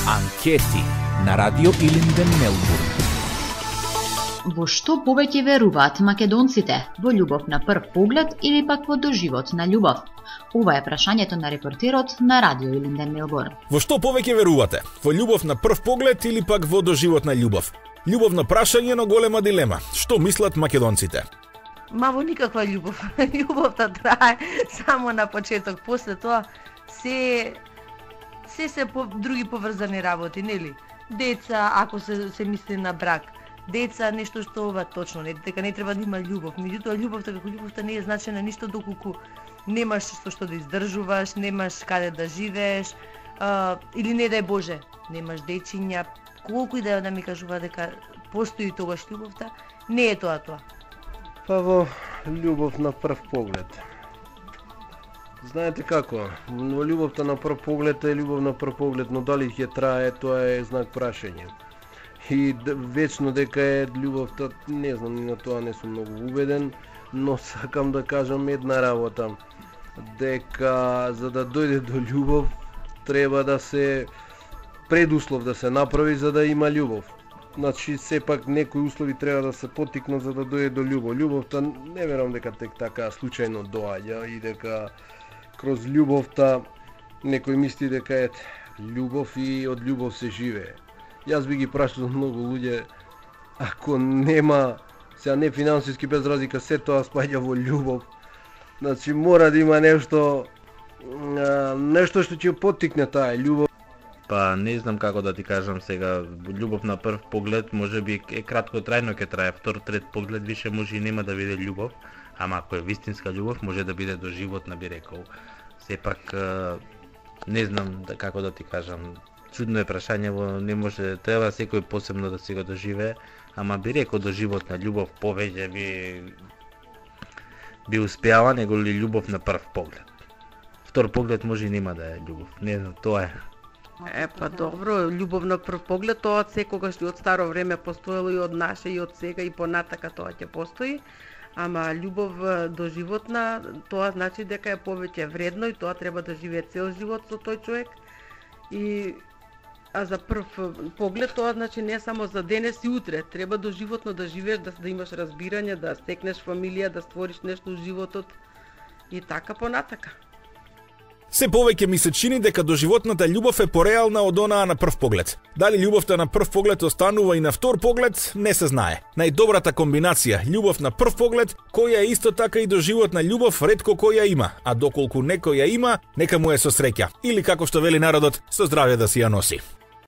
Анкети на Радио Илинден, Мелбурн. Во што повеќе веруваат македонците? Во љубов на прв поглед или пак во доживотна љубов? Ова е прашањето на репортерот на Радио Илинден, Мелбурн. Во што повеќе верувате? Во љубов на прв поглед или пак во доживотна љубов? Љубовно прашање, но голема дилема. Што мислат македонците? Ма во никаква љубов. Љубовта трае само на почеток, после тоа се други поврзани работи, нели? Деца, ако се мисли на брак, деца, нешто што ова точно, дека не треба да има љубов. Меѓутоа љубовта како љубовта не е значена ништо доколку немаш што да издржуваш, немаш каде да живееш, или не дај Боже, немаш дечиња, колку и да ми кажува дека постои тогаш љубовта, не е тоа. Па во љубов на прв поглед. Знаете како, во љубовта на прв поглед е љубов на прв поглед, но дали ќе трае, тоа е знак прашање. И вечно дека е љубовта, не знам, на тоа не сум многу убеден, но сакам да кажам една работа, дека за да дојде до љубов треба да се предуслов да се направи за да има љубов. Значи сепак некои услови треба да се поттикнат за да дојде до љубов. Љубовта не верувам дека тек така случајно доаѓа и дека кроз љубовта некој мисли дека е љубов и од љубов се живее. Јас би ги прашал многу луѓе, ако нема, сега не финансиски без разлика, се тоа спаѓа во љубов. Значи мора да има нешто што ќе поттикне таа љубов. Па не знам како да ти кажам сега, љубов на прв поглед можеби е кратко трајно ќе трае, втор, трет поглед више може и нема да биде љубов, ама ако е вистинска љубов може да биде доживотна, би рекол. Сепак не знам како да ти кажам, чудно е прашање, не може, треба секој посебно да се го доживее, ама би рекол доживотна љубов повеќе би успеала него ли љубов на прв поглед. Втор поглед може и нема да е љубов, не знам, тоа е. Па добро, љубов на прв поглед, тоа од секогаш и од старо време постоело и од наше и од сега и понатака тоа ќе постои, ама љубов доживотна, тоа значи дека е повеќе вредно и тоа треба да живее цел живот со тој човек. А за прв поглед тоа значи не само за денес и утре, треба доживотно да живееш, да имаш разбирање, да стекнеш фамилија, да створиш нешто во животот и така понатака. Се повеќе ми се чини дека доживотната љубов е пореална од онаа на прв поглед. Дали љубовта на прв поглед останува и на втор поглед, не се знае. Најдобрата комбинација љубов на прв поглед, која е исто така и доживотна љубов, ретко која има, а доколку некој ја има, нека му е со среќа. Или како што вели народот, со здравје да си ја носи.